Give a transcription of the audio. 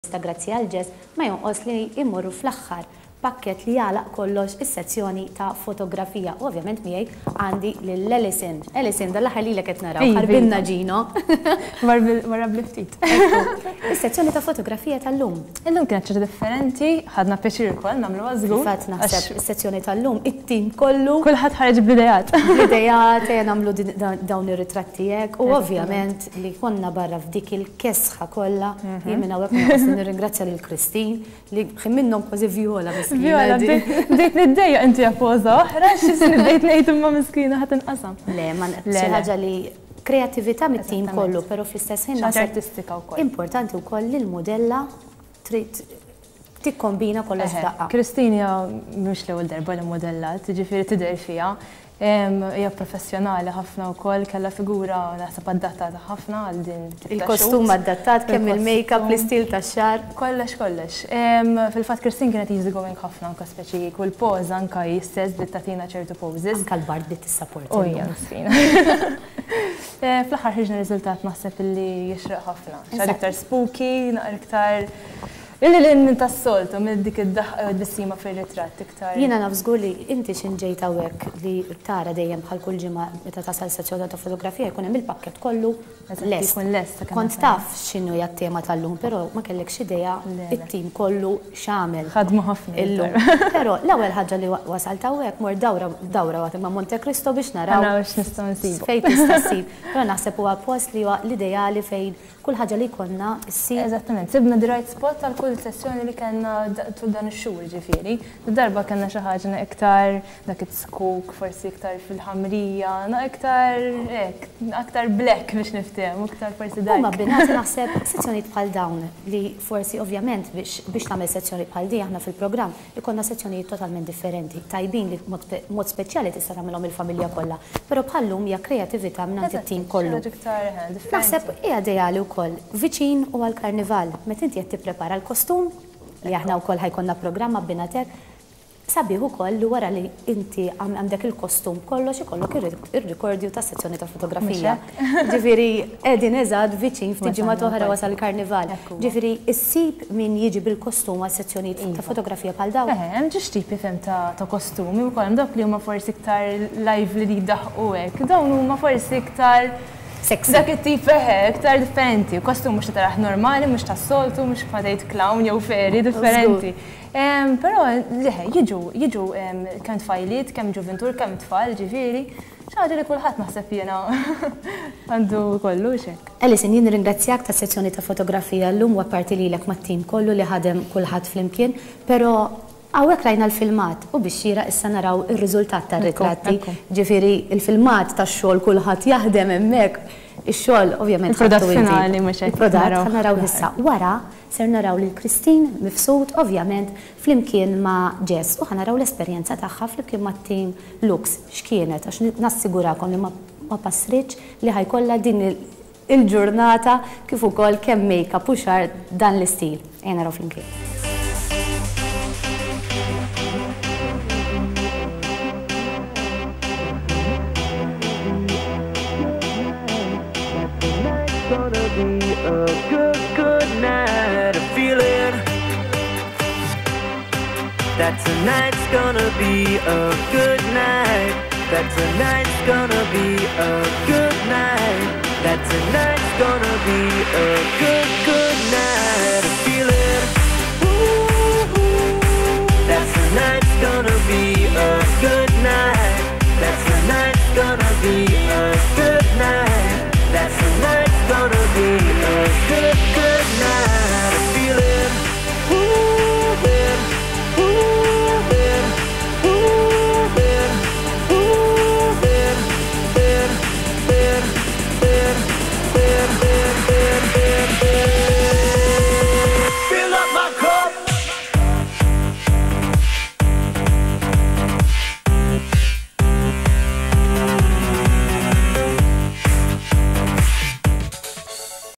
Ta' grazzi għal Jess ma jonqos li jmorru fl-aħħar pakkett li jagħlaq kollox is-sezzjoni ta' fotografija. U ovvjament miegħi għandi lil Alison. Alison, dan l-aħħar lilek qed naraw. Ħarbilna Gino. Wara bli ftit. Is-sezzjoni ta' fotografija tal-lum. Illum kienet ċerta differenti, ħadna pjaċir ukoll nagħmluha żgur. Fil-fatt naħseb is-sezzjoni tal-lum it-tim kollu. Kulħadd ħareġ bl-ideat. Bl-ideat, ejja nagħmlu dawn ir-ritratti hekk u ovvjament li konna barra f'dik il-kesħa kollha, jien minn hawnhekk ma naqas li nirringrazzja lil Christine li ħin minnhom kważi Viola miskina. Viola, bdejt niddejjaq inti poża oħra, x'isni bdejt ngħid imma miskina ħa tinqasam. Le, ma xi ħaġa li kreattività mit-tim kollu, però fl-istess ħin naħseb artistika wkoll. Importanti wkoll li l-mudella trid tikkombina kollox f'daqqa. Christine hija mhux l-ewwel darba li mmodellat, jiġifieri tidher fiha. Hija professjonali ħafna wkoll, kellha figura naħseb adattata ħafna għal din tip ta' Il-kostum adattat, kemm il-makeup, l-istil tax-xagħar. Kollox kollox. Fil-fatt Christine kienet easy going ħafna anke speċi kull poża anke hi stess bdiet tagħtina ċertu poses. Anke l-bard bdiet tissapporti. U hija miskina. Fl-aħħar ħriġna riżultat naħseb illi jixraq ħafna. Xi iktar spooky, naqra iktar Illi lil hinn tas-soltu, minn dik id-daħqa jew tbissima fir-ritratt iktar. Jiena naf żgur li inti x'int ġejt hawnhekk li tara dejjem bħal kull ġimgħa meta tasal sezzjoni ta' fotografija jkun hemm il-pakkett kollu lest. Ikun lest sakemm. Kont taf x'inhu hija t-tema tal-lum però ma kellekx idea t-tim kollu x'għamel. Ħadmu ħafna illum. Però l-ewwel ħaġa li wasalt hawnhekk mort dawra dawra waħda ma' Monte Cristo biex naraw. Naraw x'nistgħu nsibu. Fejn tista' ssib. Però naħseb huwa post li huwa l-ideali fejn Kull ħaġa li jkollna ssir. Eżattament, sibna the right spot għal kull sessjoni li kellna tul dan ix-xhur, jiġifieri. Darba kellna xi ħaġa iktar dak it-zkuk, forsi iktar fil-ħamrija, iktar hekk, aktar black biex niftehmu, iktar forsi dark. Huma abbinati naħseb sezzjonijiet bħal dawn li forsi ovvjament biex tagħmel sezzjoni bħal din aħna fil-programm Ikollna sezzjonijiet totalment differenti, tajbin li b'mod speċjali tista' tagħmilhom il-familja kollha, però bħal-lum hija kreatività mingħand it-tim kollu. Naħseb hija ideali wkoll viċin u għall-Karnival, meta inti qed tipprepara l-kostum, li aħna wkoll ħa jkollna programm abbinat hekk, sabiħ ukoll li wara li inti għandek il-kostum b'kollox ikollok ir-rikordju tas-sezzjoni ta' fotografija. Ġifieri qegħdin eżatt viċin ftit ġimgħat oħra wasal il-Karnival. Ġifieri issib min jiġi bil-kostum għal sezzjonijiet ta' fotografija bħal dawn? Eħe, hemm ġiex tipi fhem ta' kostumi wkoll, hemm dawk li huma forsi iktar lively li jdaħħqu hekk, dawn huma forsi iktar Sexy. Dak it-tip eħe, iktar differenti. Kostum mhux li tarah normali, mhux tas-soltu, mhux bħal tgħid clown jew fairy, differenti. Però eħe, jiġu, jiġu kemm tfajliet, kemm ġuvintur, kemm tfal, ġifieri. Xi ħaġa li kulħadd naħseb jiena għandu jkollu, hux hekk? Alison, jien nirringrazzjak tas-sezzjoni ta' fotografija llum u apparti lilek mat-tim kollu li ħadem kulħadd flimkien, però hawnhekk rajna l-filmat u bix-xieraq issa naraw ir-riżultat tar-ritratti. Ġifieri l-filmat tax-xogħol kulħadd jaħdem hemmhekk, ix-xogħol ovvjament ħadtu inti. Il-prodott finali mhux hekk. Il-prodott ħa narawh issa. Wara ser naraw lil Christine Mifsud ovvjament flimkien ma' Jess u ħa naraw l-esperjenza tagħha flimkien mat-tim Lux x'kienet għax nassigurakom li ma passritx li ħa jkollha din il-ġurnata kif ukoll kemm make-up u xagħar dan l-istil. Ejja naraw flimkien. That tonight's gonna be a good night. That tonight's gonna be a good night. That tonight's gonna be a good, good night.